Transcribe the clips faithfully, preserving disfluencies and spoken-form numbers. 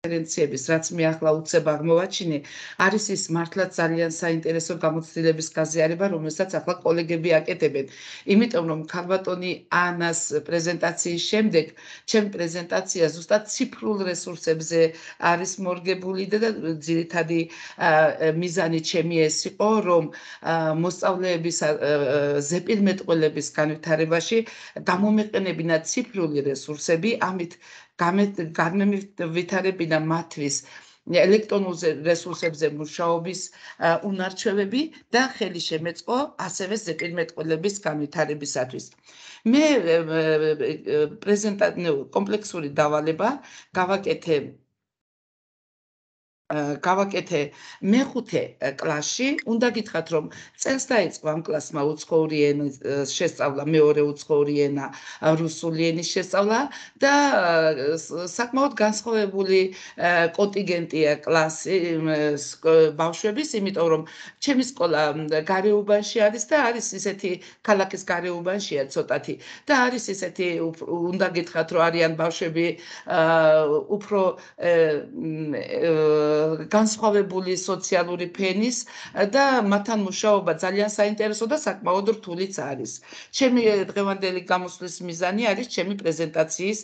კონფერენციების, რაც მე ახლა უცებ აღმოვაჩინე, არის ის მართლაც ძალიან საინტერესო გამოცდილების გაზიარება, რომელსაც ახლა კოლეგები აკეთებენ. იმიტომ რომ ქალბატონი ანას პრეზენტაციის შემდეგ, ჩემ პრეზენტაცია ზუსტად ციფრულ რესურსებზე არის მორგებული და ძირითადი მიზანი ჩემი ეს იყო, რომ მოსწავლეების ზეპირმეტყველების განვითარებაში გამომეყენებინა ციფრული რესურსები, ამით განმევითარებინა მათთვის ელექტრონულ რესურსებზე მუშაობის უნარჩვევები და ხელი შემეწყო ასევე ზეპირმეტყველების განვითარებისათვის. მე პრეზენტაცია კომპლექსური დავალება გავაკეთე გავაკეთე მეხუთე კლასში, უნდა გითხრათ, რომ წელს დაიწყო ამ კლასმა უცხოური ენის შესწავლა, მეორე უცხოური ენა რუსული ენის შესწავლა და საკმაოდ განსხვავებული კონტინგენტია კლასი ბავშვების, იმიტომ რომ ჩემი სკოლა გარეუბანში არის და არის ისეთი ქალაქის გარეუბანშია ცოტათი და არის ისეთი უნდა გითხრათ, რომ არიან ბავშვები უფრო განსხვავებული სოციალური ფენის და მათთან მუშაობა ძალიან საინტერესო და საკმაოდ რთულიც არის. ჩემი დღევანდელი გამოსვლის მიზანი არის ჩემი პრეზენტაციის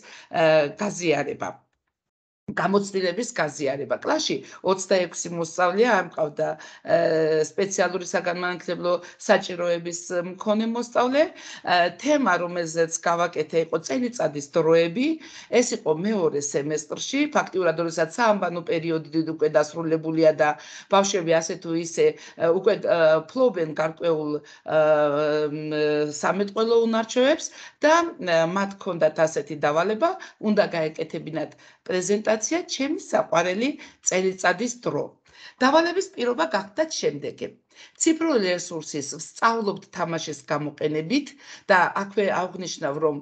გაზიარება. გამოცდილების გაზიარება. კლასში ოცდაექვსი მოსწავლეა, ამყავდა სპეციალური საგანმანათლებლო საჭიროების მქონე მოსწავლე. თემა, რომელზეც გავაკეთე, იყო წელიწადის დროები. ეს იყო მეორე სემესტრში, ფაქტიურად, როდესაც საამბანო პერიოდი უკვე დასრულებულია და ბავშვები ასე თუ ისე უკვე ფლობენ გარკვეულ სამეტყველო უნარჩვევებს და მათ ჰქონდათ ასეთი დავალება, უნდა გაეკეთებინათ პრეზენტაცია ჩემი საყვარელი წელიწადის დრო. დავალების პირობა გახდათ შემდეგი. ციფრული რესურსის ვსწავლობთ თამაშის გამოყენებით და აქვე აღვნიშნავ, რომ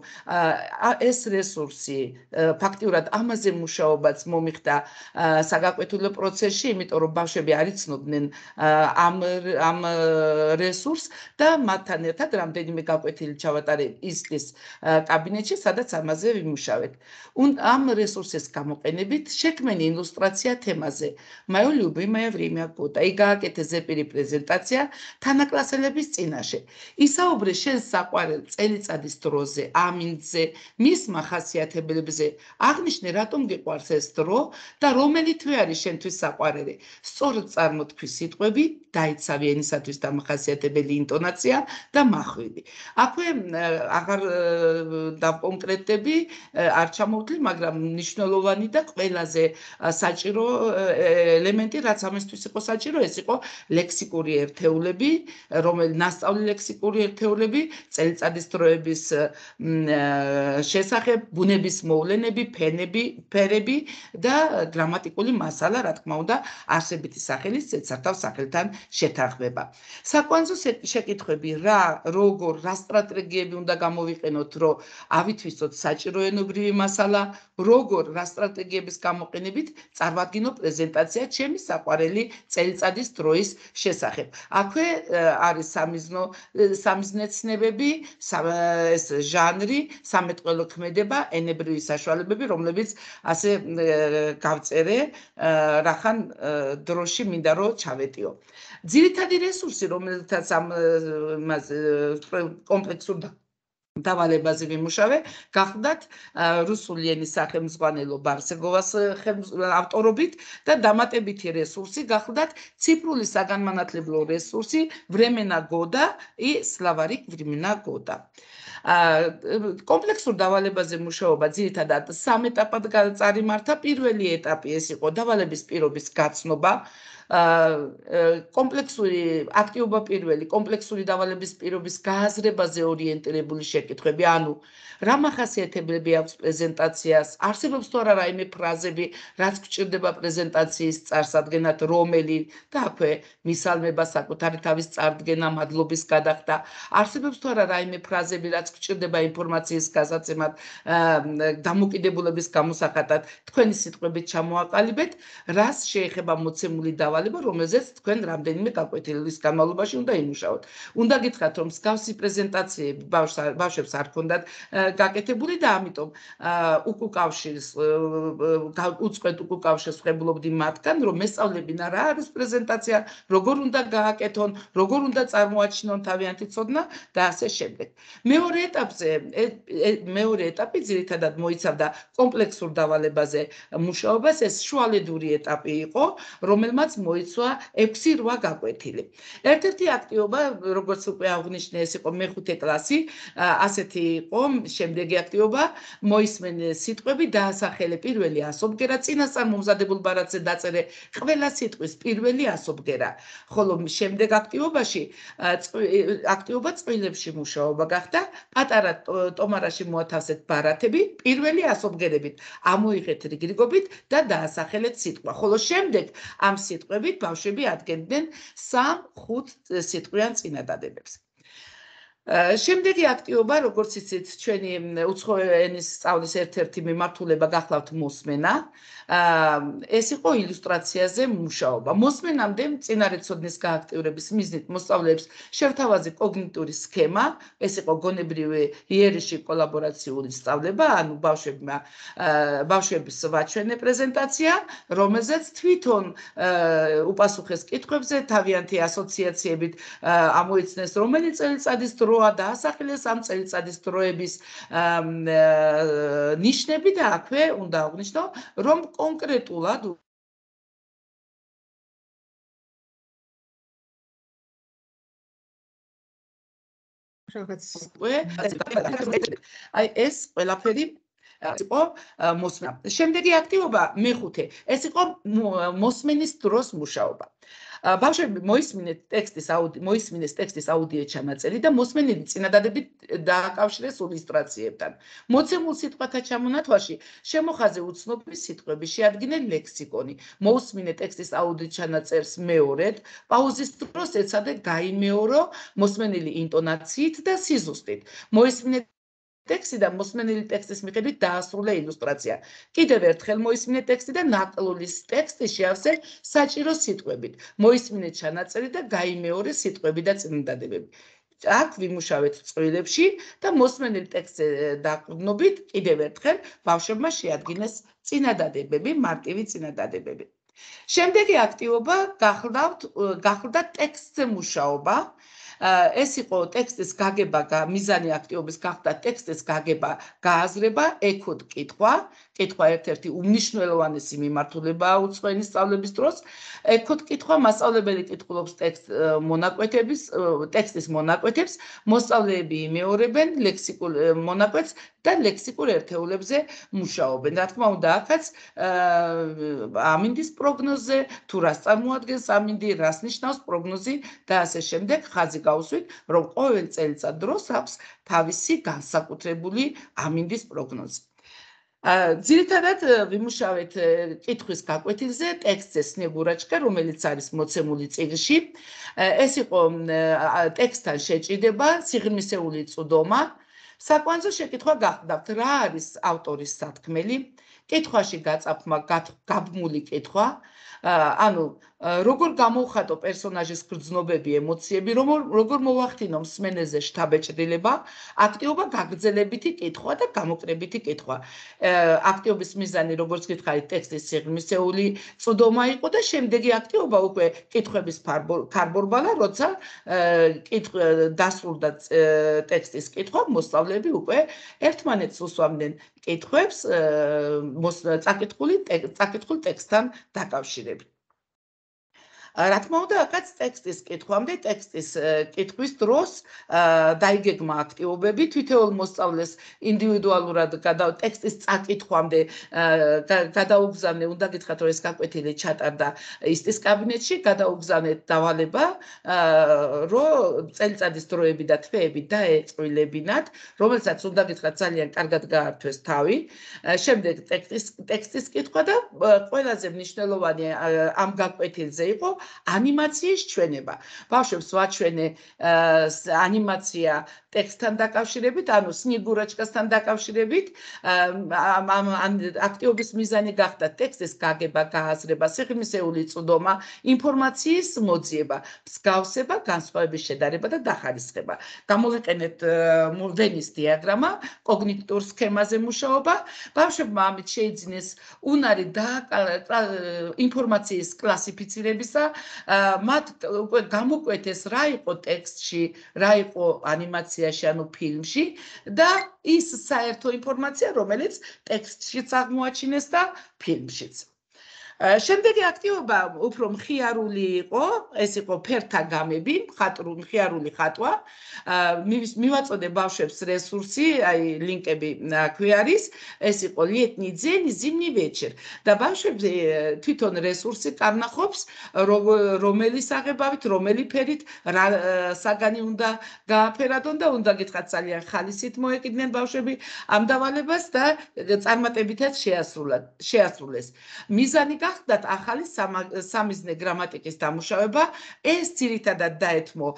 ეს რესურსი ფაქტიურად ამაზე მუშაობაც მომიხდა საგაკვეთილო პროცესში, იმიტომ რომ ბავშვები არ იცნობდნენ ამ ამ რესურსს და მათთან ერთად რამდენიმე გაკვეთილი ჩავატარე ისლის კაბინეტში, სადაც ამაზე ვიმუშავეთ. ამ რესურსის გამოყენებით შექმენი ილუსტრაცია თემაზე. Мое любимое время года. И გააკეთე ზეპირი პრეზენტაცია თანაკლასელების წინაშე. ისაუბრე შენ საყვარელ წელიწადის დროზე, ამინდზე, მის მახასიათებლებზე. აღნიშნე, რატომ გიყვარს ეს დრო და რომელი თვე არის შენთვის საყვარელი. სწორად წარმოთქვი სიტყვები, დაიცავი ენისათვის დამახასიათებელი ინტონაცია და მახვილი. აქვე აღარ დავკონკრეტები, არ ჩამოვთვლი, მაგრამ მნიშვნელოვანი და ყველაზე საჭირო ელემენტი, რაც ამისთვის იყო საჭირო, ეს იყო ლექსიკური ერთეულები, რომელი ნასწავლი ლექსიკური ერთეულები, წელიწადის დროების შესახებ, ბუნების მოვლენები, ფენები, ფერები და გრამატიკული მასალა, რა თქმა უნდა, არსებითი სახელის ცეცხლსა სახელთან შეთანხმება. საკვანძო შეკითხვები, რა, როგორ, რა სტრატეგიები უნდა გამოვიყენოთ, რომ ავითვისოთ საჭირო ენობრივი მასალა, როგორ, რა სტრატეგიების გამოყენებით წარმოვადგინო პრეზენტაცია ჩემი საყვარელი წელიწადის დროის შესახებ. აქვე არის სამიზნო სამიზნეცნებები, ეს ჟანრი, სამეტყველო ქმედება, ენებრივი საშუალებები, რომლებიც ასე გავწერე, რახან დროში მინდა რომ ჩავეტიო. ძირითადი რესურსი, რომელთაც ამ კომპლექსურ დავალებაზე ვიმუშავე, გახდათ რუსული ენის სახელმძღვანელო ბარსეგოვას ავტორობით და დამატებითი რესურსი გახდათ ციფრული საგანმანათლებლო რესურსი времена года и словарик времена года. კომპლექსურ დავალებაზე მუშაობა ძირითადად სამ ეტაპად წარიმართა. პირველი ეტაპი ეს იყო დავალების პირობის გაცნობა. კომპლექსური აქტიობა პირველი, კომპლექსური დავალების პირობის გააზრებაზე ორიენტირებული შეკითხვები, ანუ რა მახასიათებლები აქვს პრეზენტაციას, არსებობს თუ არა რაიმე ფრაზები, რაც გვჭირდება პრეზენტაციის წარსადგენად, რომელი და აქვე მისალმება, საკუთარი თავის წარდგენა, მადლობის გადახდა, არსებობს თუ არა რაიმე ფრაზები, რაც გვჭირდება ინფორმაციის გასაცემად, დამოკიდებულების გამოსახატად, თქვენი სიტყვებით ჩამოაყალიბეთ, რას შეეხება მოცემული დავალება დავალება, რომელზეც თქვენ რამდენიმე გაკვეთილის განმავლობაში უნდა იმუშაოთ. უნდა გითხრათ, რომ მსგავსი პრეზენტაციები ბავშვებს არ ჰქონდათ გაკეთებული და ამიტომ უკუკავშირს უწყვეტ უკუკავშირს ვღებულობდი მათგან, რომ ესწავლებინა რა არის პრეზენტაცია, როგორ უნდა გააკეთონ, როგორ უნდა წარმოაჩინონ თავიანთი ცოდნა და ასე შემდეგ. მეორე ეტაპზე, მეორე ეტაპი ძირითადად მოიცავდა კომპლექსურ დავალებაზე მუშაობას, ეს შუალედური ეტაპი იყო, რომელმაც მოიცვა ექვსი რვა გაკვეთილი. ერთ-ერთი აქტივობა, როგორც უკვე აღნიშნე, ეს იყო მეხუთე კლასი, ასეთი იყო, შემდეგი აქტივობა მოისმენე სიტყვები, დაასახელე პირველი ასობგერა, წინასწარ მომზადებულ ბარათზე დაწერე ყველა სიტყვის პირველი ასობგერა. ხოლო შემდეგ აქტივობაში აქტივობა წყვილებში მუშაობა გახდა, პატარა ტომარაში მოათავსეთ ბარათები პირველი ასობგერებით, ამოიღეთ რიგრიგობით და დაასახელეთ სიტყვა. ხოლო შემდეგ ამ სიტყვებით ბავშვები ადგენდნენ სამ-ხუთ სიტყვიან წინადადებებს. შემდეგი აქტივობა, როგორც იცით, ჩვენი უცხო ენის სწავლის ერთ-ერთი მიმართულება გახლავთ მოსმენა. ეს იყო ილუსტრაციაზე მუშაობა. მოსმენამდე წინარეცოდნის გააქტიურების მიზნით მოსწავლეებს შევთავაზე კოგნიტური სქემა, ეს იყო გონებრივი იერიში კოლაბორაციული სწავლება, ანუ ბავშვებმა ბავშვების ვაჩვენე პრეზენტაცია, რომელზეც თვითონ უპასუხეს კითხვებზე, თავიანთი ასოციაციებით ამოიცნეს, რომელი წელიწადის დრო დაასახელეს ამ წელიწადის დროების ნიშნები და აქვე უნდა აღნიშნო, რომ კონკრეტულად აი ეს ყველაფერი იყო მოსმენა. შემდეგი აქტივობა მეხუთე, ეს იყო მოსმენის დროს მუშაობა. ბავშვები მოისმინეთ ტექსტის აუდიო მოისმინეს ტექსტის აუდიო ჩანაწერი და მოსმენილი წინადადებით დააკავშირეს ილუსტრაციებთან. მოცემულ სიტყვათა ჩამონათვალში შემოხაზე უცნობი სიტყვები შეადგინე ლექსიკონი. მოусმინე ტექსტის აუდიო ჩანაწერს მეორედ, პაუზის დროს ეცადე გაიმეორო მოსმენილი ინტონაციით და სიზუსტით. მოისმინე ტექსტი და მოსმენილი ტექსტის მიხედვით დაასრულე ილუსტრაცია. კიდევ ერთხელ მოისმინე ტექსტი და ნაკლულის ტექსტი შეავსე საჭირო სიტყვებით. მოისმინე ჩანაწერი და გაიმეორე სიტყვები და წინადადებები. აქ ვიმუშავეთ წყვილებში და მოსმენილი ტექსტზე დაყრდნობით კიდევ ერთხელ ბავშვებმა შეადგინეს წინადადებები, მარტივი წინადადებები. შემდეგი აქტივობა გახლდა ტექსტზე მუშაობა. ეს იყო ტექსტის გაგება, მიზანი აქტივობის გახდა ტექსტის გაგება, გააზრება, ექოდ კითხვა. კითხვა ერთ-ერთი უმნიშვნელოვანესი მიმართულებაა უცხო ენის სწავლების დროს. ექოდ კითხვა მასწავლებელი კითხულობს მონაკვეთების, ტექსტის მონაკვეთებს, მოსწავლეები იმეორებენ ლექსიკურ მონაკვეთს და ლექსიკურ ერთეულებზე მუშაობენ. რა თქმა უნდა, აქაც ამინდის პროგნოზზე, თუ რას წარმოადგენს ამინდი, რას ნიშნავს პროგნოზი და ასე შემდეგ ხაზი გავუსვით, რომ ყოველ წელიწად დროს აქვს თავისი განსაკუთრებული ამინდის პროგნოზი. ძირითადად ვიმუშავეთ კითხვის გაკვეთილზე ტექსტზე სნეგურაჩკა, რომელიც არის მოცემული წიგნში. ეს იყო ტექსტთან შეჭიდება, სიღრმისეული წვდომა. საკვანძო შეკითხვა გახლდათ, რა არის ავტორის სათქმელი? კითხვაში გაწაფხმა გაბმული კითხვა. ანუ როგორ გამოვხატო პერსონაჟის გრძნობები, ემოციები, როგორ მოვახდინო მსმენელზე შთაბეჭდილება, აქტივობა გაგრძელებითი კითხვა და გამოკრებითი კითხვა. აქტივობის მიზანი, როგორც გითხარით, ტექსტის სიღრმისეული წვდომა იყო და შემდეგი აქტივობა უკვე კითხვების ქარბორბალა, როცა დასრულდა ტექსტის კითხვა, მოსწავლეები უკვე ერთმანეთს უსვამდნენ კითხვებს წაკითხულ ტექსტთან დაკავშირებით. რა თქმა უნდა, აქაც ტექსტის კითხვამდე, ტექსტის კითხვის დროს დაიგეგმა აქტივობები, თითოეულ მოსწავლეს ინდივიდუალურად ტექსტის წაკითხვამდე გადაუგზავნე, უნდა გითხრათ, რომ ეს გაკვეთილი ჩატარდა ისტის კაბინეტში, გადაუგზავნეთ დავალება, რომ წელიწადის დროები და თვეები დაეწყვილებინათ, რომელსაც უნდა გითხრათ, ძალიან კარგად გაართვეს თავი. შემდეგ ტექსტის კითხვა და ყველაზე მნიშვნელოვანი ამ გაკვეთილზე იყო ანიმაციის ჩვენება. ბავშვებს ვაჩვენე ანიმაცია ტექსტთან დაკავშირებით, ანუ სნიგურაჩკასთან დაკავშირებით, ამ აქტივობის მიზანი გახდა ტექსტის გაგება, გააზრება, სიღრმისეული წვდომა, ინფორმაციის მოძიება, მსგავსება, განსხვავების შედარება და დახარისხება. გამოვიყენეთ ვენის დიაგრამა, კოგნიტურ სქემაზე მუშაობა. ბავშვებმა ამით შეიძინეს უნარი და ინფორმაციის კლასიფიცირებისა, მათ უკვე გამოკვეთეს რა იყო ტექსტში, რა იყო ანიმაციაში, ანუ ფილმში და ის საერთო ინფორმაცია, რომელიც ტექსტშიც აღმოაჩინეს და ფილმშიც. შემდეგი აქტივობა უფრო მხიარული იყო, ეს იყო ფერთა გამები, მხიარული ხატვა. მივაწოდე ბავშვებს რესურსი, აი ლინკები აქვე არის, ეს იყო ლიეტნი ძენი, ზიმნი ვეჩერ. და ბავშვები თვითონ რესურსი კარნახობს, რომელი საღებავით, რომელი ფერით, რა საგანი უნდა გააფერადონ და უნდა გითხრათ ძალიან ხალისით მოეკიდნენ ბავშვები ამ დავალებას და წარმატებითაც შეასრულეს. მიზანი გახდათ ახალი სამიზნე გრამატიკის დამუშავება, ეს ძირითადად დაეთმო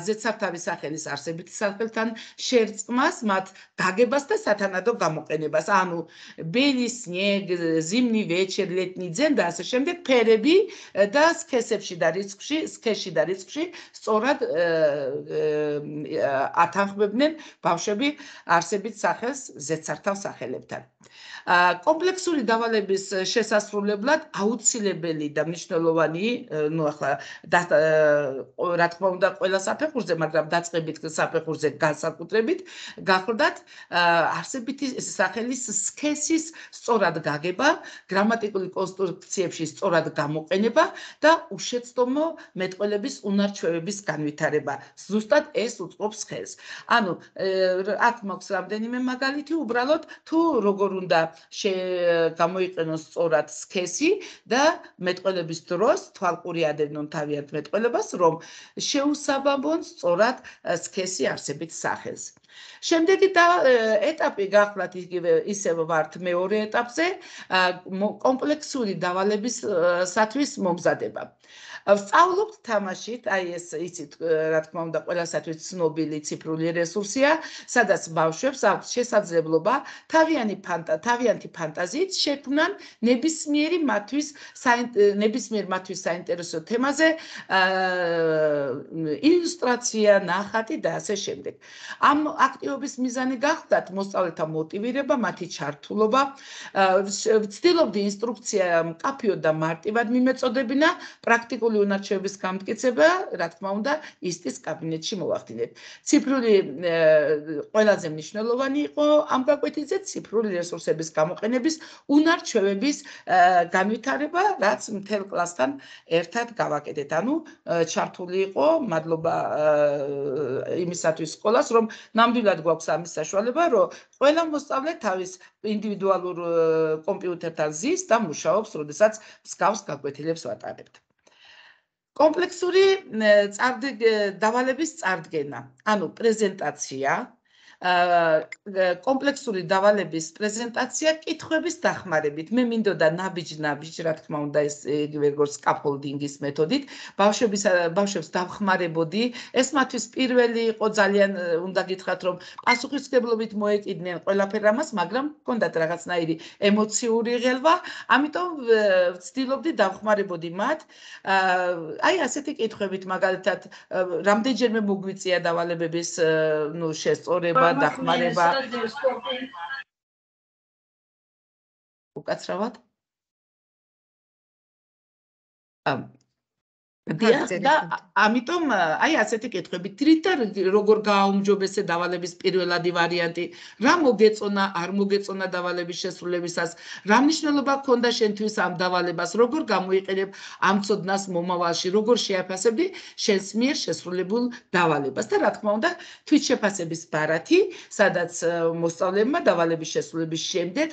ზედსართავის სახელის არსებითი სახელთან შერწყმას, მათ გაგებას და სათანადო გამოყენებას, ანუ ბელი, სნიეგ, ზიმნი, ვეჩერ, ლეტნი ძენ და ასე შემდეგ ფერები და სქესებში და რიცხვში, სქესში და რიცხვში სწორად ათანხმებდნენ ბავშვები არსებით სახელს ზედსართავ სახელებთან. კომპლექსური დავალების შესასრულებლად აუცილებელი და მნიშვნელოვანი, ну ახლა რა თქმა უნდა ყველა საფეხურზე, მაგრამ დაწყებით საფეხურზე განსაკუთრებით გახლდათ არსებითი სახელის სქესის სწორად გაგება, გრამატიკული კონსტრუქციებში სწორად გამოყენება და უშეცდომო მეტყველების უნარჩვევების განვითარება. ზუსტად ეს უწყობს ხელს. ანუ აქ მაქვს რამდენიმე მაგალითი, უბრალოდ თუ როგორ უნდა გამოიყენოს სწორად სქესი და მეტყველების დროს თვალყური ადევნონ თავიანთ მეტყველებას, რომ შეუსაბამონ სწორად სქესი არსებით სახელს. შემდეგი ეტაპი გახლავთ ისევ ვართ მეორე ეტაპზე, კომპლექსური დავალებისათვის მომზადება. ვსწავლობთ თამაშით, აი ეს იცით, რა თქმა უნდა, ყველასათვის ცნობილი ციფრული რესურსია, სადაც ბავშვებს აქვს შესაძლებლობა თავიანთი ფანტაზიით შექმნან ნებისმიერი მათთვის ნებისმიერ მათთვის საინტერესო თემაზე ილუსტრაცია, ნახატი და ასე შემდეგ. ამ აქტივობის მიზანი გახლდათ მოსწავლეთა მოტივირება, მათი ჩართულობა, ვცდილობდი ინსტრუქცია მკაფიოდ და მარტივად მიმეწოდებინა, პრაქტიკული უნარჩვევების გამტკიცება, რა თქმა უნდა, ისტის კაბინეტში მოვახდინეთ. ციფრული ყველაზე მნიშვნელოვანი იყო ამ გაკვეთილზე ციფრული რესურსების გამოყენების უნარჩვევების განვითარება, რაც მთელ კლასთან ერთად გავაკეთეთ. ანუ ჩართული იყო, მადლობა იმისათვის სკოლას, რომ ნამდვილად გვაქვს ამის საშუალება, რომ ყველა მოსწავლე თავის ინდივიდუალურ კომპიუტერთან ზის და მუშაობს, როდესაც მსგავს გაკვეთილებს ვატარებთ. კომპლექსური დავალების წარდგენა, ანუ პრეზენტაცია, კომპლექსური დავალების პრეზენტაცია კითხვების დახმარებით. მე მინდოდა ნაბიჯ-ნაბიჯ, რა თქმა უნდა, ეს იგივე როგორც სკაფოლდინგის მეთოდით, ბავშვებს დავხმარებოდი. ეს მათთვის პირველი იყო, ძალიან უნდა გითხრათ, რომ პასუხისმგებლობით მოეკიდნენ ყველაფერ ამას, მაგრამ ჰქონდათ რაღაცნაირი ემოციური ღელვა, ამიტომ ვცდილობდი დავხმარებოდი მათ. აი ასეთი კითხვებით, მაგალითად, რამდენჯერმე მოგვიწია დავალებების ნუ შესწორება დახმარება. უკაცრავად? და ამიტომ აი ასეთი კითხვები თრითა როგორ გააუმჯობესე დავალების პირველადი ვარიანტი, რა მოგეწონა, არ მოგეწონა დავალების შესრულებისას, რა მნიშვნელობა ჰქონდა შენთვის ამ დავალებას, როგორ გამოიყენებ ამ ცოდნას მომავალში, როგორ შეაფასებდი შენს მიერ შესრულებულ დავალებას და რა თქმა უნდა თვითშეფასების ბარათი, სადაც მოსწავლეებმა დავალების შესრულების შემდეგ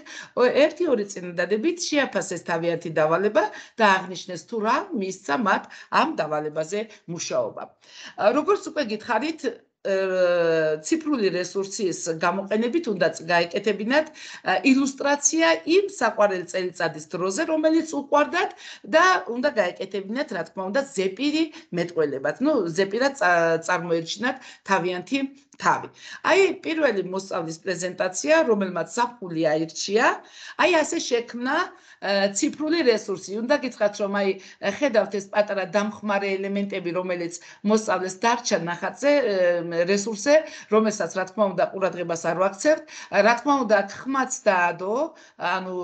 ერთი-ორი წინადადებით შეაფასეს თავიანთი დავალება და აღნიშნეს თუ რა მისცა მათ ამ დავალებაზე მუშაობა. როგორც უკვე გითხარით, ციფრული რესურსის გამოყენებით უნდა გაეკეთებინათ ილუსტრაცია იმ საყვარელ წელიწადის დროზე, რომელიც უყვარდათ და უნდა გაეკეთებინათ, რა თქმა უნდა, ზეპირი მეტყველებად. ნუ ზეპირად წარმოერჩინათ თავიანთი თავი. აი პირველი მოსწავლის პრეზენტაცია, რომელმაც საფული აირჩია, აი ასე შექმნა ციფრული რესურსი. უნდა გითხრათ, რომ აი ხედავთ ეს პატარა დამხმარე ელემენტები, რომელიც მოსწავლეს დარჩა ნახატზე, რესურსზე, რომელსაც რა თქმა უნდა ყურადღებას არ ვაქცევთ, რა თქმა უნდა ხმაც დაადო, ანუ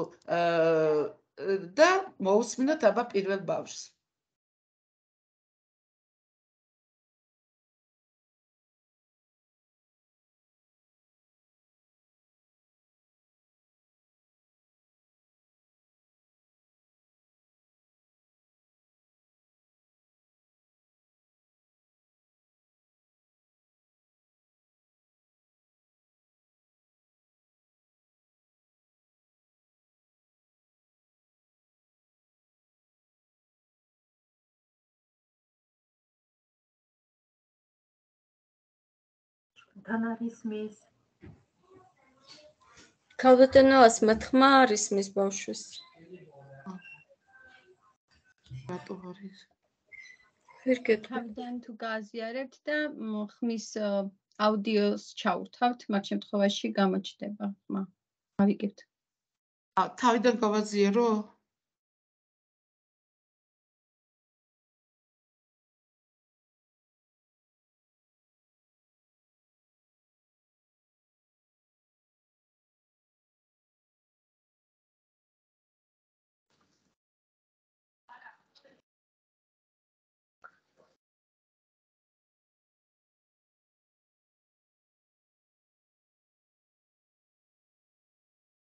და მოусმინოთ აბა პირველ ბავშვს. თან არის მის ქალბატონოს მოთხრა არის მის ბავშვის. რატო არის? თავიდან თუ გააზიარებთ და ხმის აუდიოს ჩაურთავთ, მათ შემთხვევაში გამოჩნდება ხმა. ავიგებთ. ა თავიდან გავაზიარო?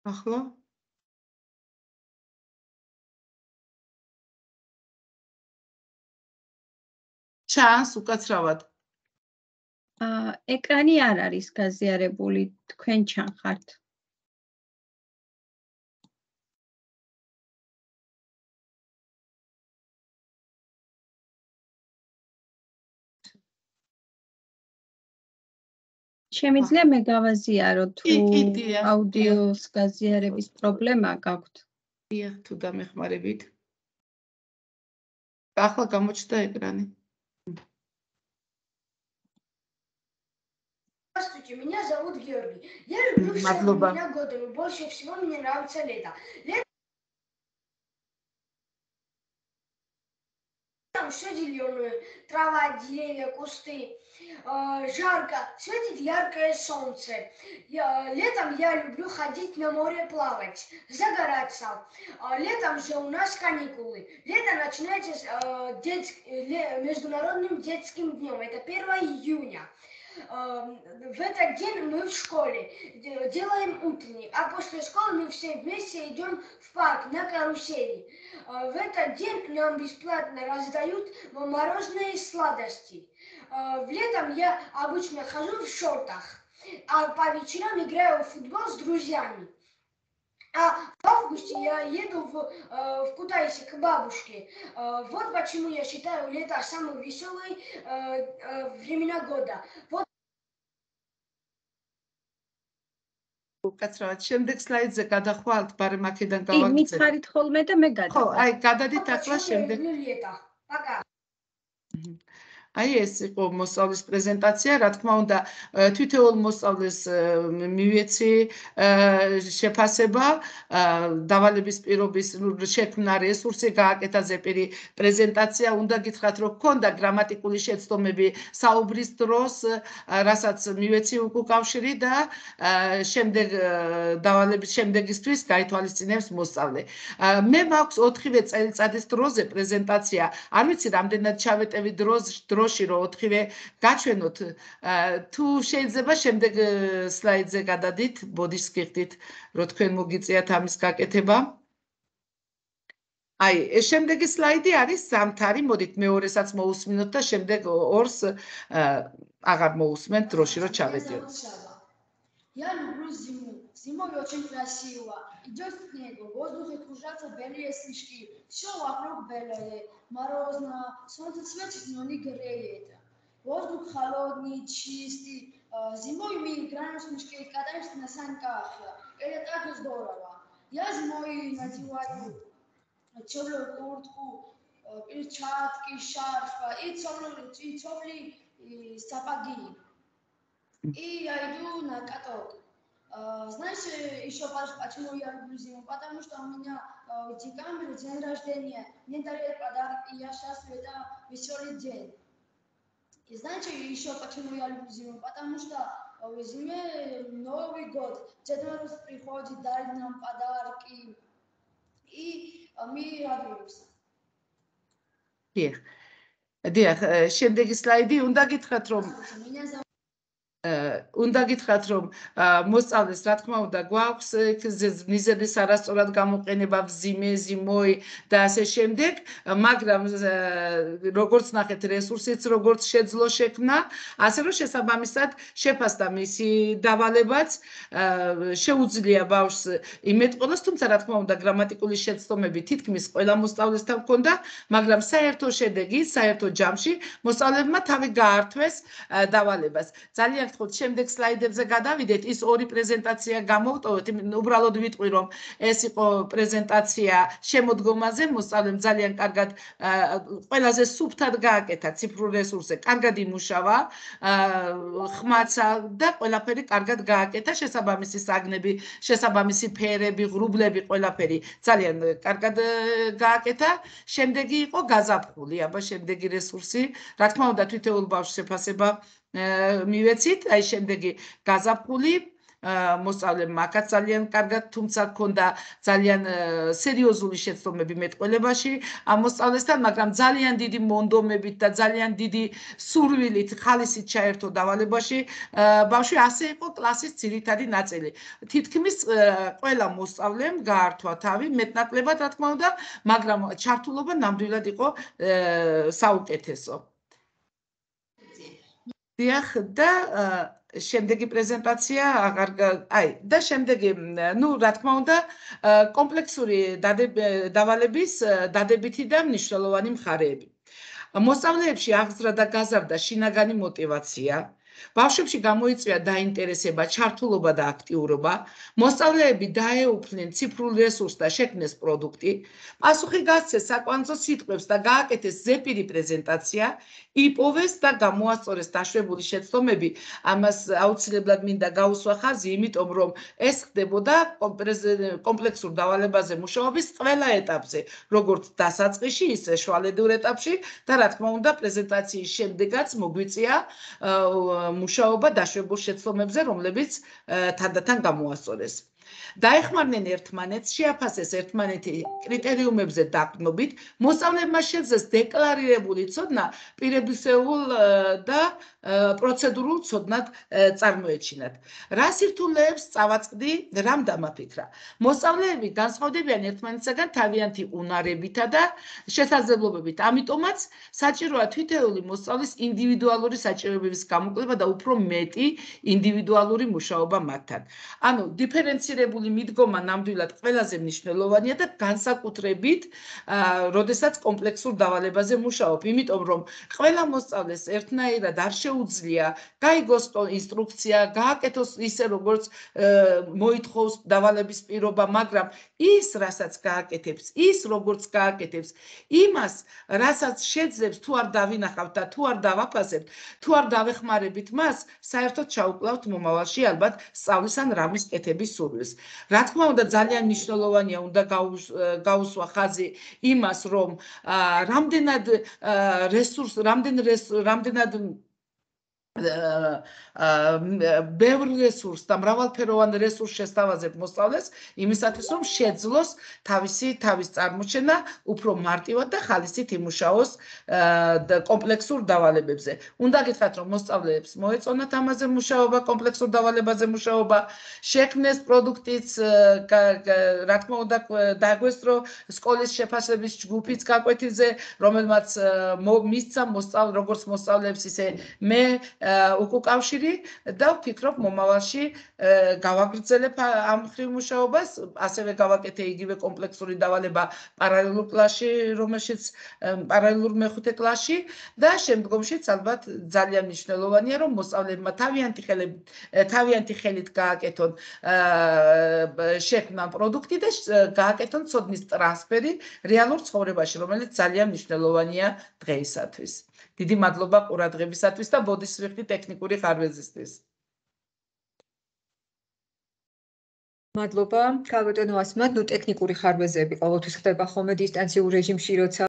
ახლა ჩანს უკაცრავად. აა ეკრანი არ არის გაზიარებული, თქვენ ჩანხართ. შემიძლია მე გავაზიარო თუ აუდიოს გაზიარების პრობლემა გაქვთ? დიახ, თუ დამეხმარებით. ახლა გამოჩნდა ეკრანი. Здравствуйте, меня зовут Георгий. Я люблю все времена года, но больше всего мне нравится лето. Летом все зеленое, трава, деревья, кусты. Жарко, светит яркое солнце. Я, летом я люблю ходить на море плавать, загораться. Летом же у нас каникулы. Лето начинается с э, детс... международным детским днем. Это первое июня. В этот день мы в школе делаем утренник, а после школы мы все вместе идем в парк на карусели. В этот день нам бесплатно раздают мороженые сладости. В летом я обычно хожу в шортах, а по вечерам играю в футбол с друзьями. А в августе я еду в, в Кутайсе к бабушке. Вот почему я считаю лето самым веселым времена года. Вот უკაცრავად შემდეგ სლაიდზე გადახვალთ, ბარემ აქედან გავაგრძელებ. მითხარით ხოლმე და მე გადავ. ხო, აი გადადით ახლა შემდეგ. Пока. აი ეს იყო მოსწავლის პრეზენტაცია, რა თქმა უნდა, თითოეულ მოსწავლეს მივეცი შეფასება, დავალების პირობის შექმნა რესურსი, გააკეთა ზეპირი პრეზენტაცია, უნდა გითხრათ, რომ ჰქონდა გრამატიკული შეცდომები საუბრის დროს, რასაც მივეცი უკავშირი და შემდეგ დავალების შემდეგისთვის გაითვალისწინებს მოსწავლე. მე მაქვს ოთხივე წელიწადის დროზე პრეზენტაცია, არ ვიცი რამდენად ჩავეტევი დროს დროში რომ ოთხივე გაჩვენოთ, თუ შეიძლება შემდეგ სლაიდზე გადადით, ბოდიშს გიხდით, რომ თქვენ მოგიწიათ ამის გაკეთება. აი, ეს შემდეგი სლაიდი არის ზამთარი, მოდით მეორესაც მოусმინოთ და შემდეგ ორს აღარ მოусმენთ დროში რომ ჩავედიოთ. Я люблю зиму. Зимой очень красиво. Идет снег, в воздухе кружатся белые снежки. Все вокруг белое, морозно, солнце светит, но не греет. Воздух холодный, чистый. Зимой мы играем в снежки и катаемся на санках. Это так здорово. Я зимой надеваю теплую куртку, перчатки, шарф и теплые сапоги. И я иду на каток. Знаешь, еще почему я люблю зиму? Потому что у меня в декабре день рождения, мне дарят подарок, и я счастлив, это веселый день. И знаете еще почему я люблю зиму? Потому что в зиме Новый год, Дед Мороз приходит, дарит нам подарки, и мы радуемся. დიახ. დიახ, შემდეგი სლაიდი უნდა გითხრათ რომ Меня зовут უნდა გითხრათ რომ მოსწავლეს რა თქმა უნდა გვაქვს მიზედის არასწორად გამოყენება ვზიმე, ზიმოი და ასე შემდეგ, მაგრამ როგორც ნახეთ რესურსიც როგორც შეძლო შექმნა, ასე რომ შესაბამისად შეფასდა მისი დავალებაც შეუძლია ბავშვს იმეთყოლოს, თუმცა რა თქმა უნდა გრამატიკული შეცდომები თითქმის ყველა მოსწავლესთან ჰქონდა, მაგრამ საერთო შედეგი, საერთო ჯამში მოსწავლეებმა თავი გაართვეს დავალებას. ძალიან გთხოვთ შემდეგ სლაიდებზე გადავიდეთ, ის ორი პრეზენტაცია გამოვტოვეთ, უბრალოდ ვიტყვი რომ ეს იყო პრეზენტაცია შემოდგომაზე, მოსწავლემ ძალიან კარგად ყველაზე სუფთად გააკეთა ციფრულ რესურსზე, კარგად იმუშავა, ხმაცა და ყველაფერი კარგად გააკეთა, შესაბამისი საგნები, შესაბამისი ფერები, ღრუბლები, ყველაფერი ძალიან კარგად გააკეთა. შემდეგი იყო გაზაფხული, აბა შემდეგი რესურსი, რა თქმა უნდა თითოეულ ბავშვს შეფასება მივეცით, აი შემდეგი გაზაფხული მოსწავლემ მაგაც ძალიან კარგად, თუმცა ჰქონდა ძალიან სერიოზული შეცდომები მეტყველებაში ამ მოსწავლესთან, მაგრამ ძალიან დიდი მონდომებით და ძალიან დიდი სურვილით, ხალისით ჩაერთო დავალებაში ბავშვი, ასე იყო კლასის ძირითადი ნაწილი. თითქმის ყველა მოსწავლემ გაართვა თავი მეტნაკლებად, რა თქმა უნდა, მაგრამ ჩართულობა ნამდვილად იყო საუკეთესო. დიახ და შემდეგი პრეზენტაცია აღარ აი და შემდეგი ნუ რა თქმა უნდა კომპლექსური დავალების დადებითი და მნიშვნელოვანი მხარეები. მოსწავლეებში აღზრდა და გაზარდა შინაგანი мотиваცია, ბავშვებში გამოიწვია დაინტერესება, ჩართულობა და აქტიურობა, მოსწავლეები დაეუფლნენ ციფრულ რესურსს და შექმნეს პროდუქტი, პასუხი გასცეს საკვანძო სიტყვებს და გააკეთეს ზეპირი პრეზენტაცია, იპოვეს და გამოასწორეს დაშვებული შეცდომები, ამას აუცილებლად მინდა გაუსვა ხაზი, იმიტომ რომ ეს ხდებოდა კომპლექსურ დავალებაზე მუშაობის ყველა ეტაპზე, როგორც დასაწყისში, ისე შუალედურ ეტაპში და რა თქმა უნდა პრეზენტაციის შემდეგაც მოგვიწია მუშაობა დაშვებულ შეცდომებზე, რომლებიც თანდათან გამოასწორეს. დაეხმარნენ ერთმანეთს, შეაფასეს ერთმანეთი კრიტერიუმებზე დაყრდნობით, მოსწავლეებმა შეძლეს დეკლარირებული ცოდნა პირებისეულ და პროცედურულ ცოდნად წარმოეჩინათ. რა სირთულეებს წავაწყდი, რამ დამაფიქრა? მოსწავლეები განსხვავდებიან ერთმანეთისაგან თავიანთი უნარებითა და შესაძლებლობებით. ამიტომაც საჭიროა თითოეული მოსწავლის ინდივიდუალური საჭიროებების გამოკვლევა და უფრო მეტი ინდივიდუალური მუშაობა მათთან. ანუ დიფერენცირებული მიდგომა ნამდვილად ყველაზე მნიშვნელოვანია და განსაკუთრებით, როდესაც კომპლექსურ დავალებაზე მუშაობ, იმიტომ რომ ყველა მოსწავლეს ერთნაირად არ შეუძლია გაიგოს ინსტრუქცია, გააკეთოს ისე როგორც მოითხოვს დავალების პირობა, მაგრამ ის, რასაც გააკეთებს, ის როგორც გააკეთებს, იმას, რასაც შეძლებს თუ არ დავინახავთ და თუ არ დავაფასებთ, თუ არ დავეხმარებით მას, საერთოდ ჩაუკლავთ მომავალში ალბათ სწავლის ან რამის კეთების სურვილს. რა თქმა უნდა, ძალიან მნიშვნელოვანია, უნდა გაუსვა ხაზი იმას, რომ რამდენად რესურს, რამდენად ბევრ რესურსს და მრავალფეროვან რესურსს შესთავაზებ მოსწავლეს, იმისათვის რომ შეძლოს თავისი თავის წარმოჩენა უფრო მარტივად და ხალისით იმუშაოს კომპლექსურ დავალებებზე. უნდა გითხრათ, რომ მოსწავლეებს მოეწონათ ამაზე მუშაობა, კომპლექსურ დავალებაზე მუშაობა, შექმნეს პროდუქტიც, რა თქმა უნდა, დაგვესწრო სკოლის შეფასების ჯგუფიც გაკვეთილზე, რომელმაც მისცა როგორც მოსწავლეებს, ისე მე უკუკავშირი და ვფიქრობ მომავალში გავაგრძელებ ამ მხრივ მუშაობას, ასევე გავაკეთე იგივე კომპლექსური დავალება პარალელურ კლასში, რომელშიც პარალელურ მეხუთე კლასში და შემდგომშიც ალბათ ძალიან მნიშვნელოვანია, რომ მოსწავლეებმა თავიანთი ხელით თავიანთი ხელით გააკეთონ შექმნან პროდუქტი და გააკეთონ ცოდნის ტრანსფერი რეალურ ცხოვრებაში, რომელიც ძალიან მნიშვნელოვანია დღეისათვის. დიდი მადლობა ყურადღებისათვის და ბოდისვიხდი ტექნიკური ხარვეზისთვის. მადლობა. ქალბატონო ასმად, ნუ ტექნიკური ხარვეზები ყოველთვის ხდება ხოლმე დისტანციურ რეჟიმში, როცა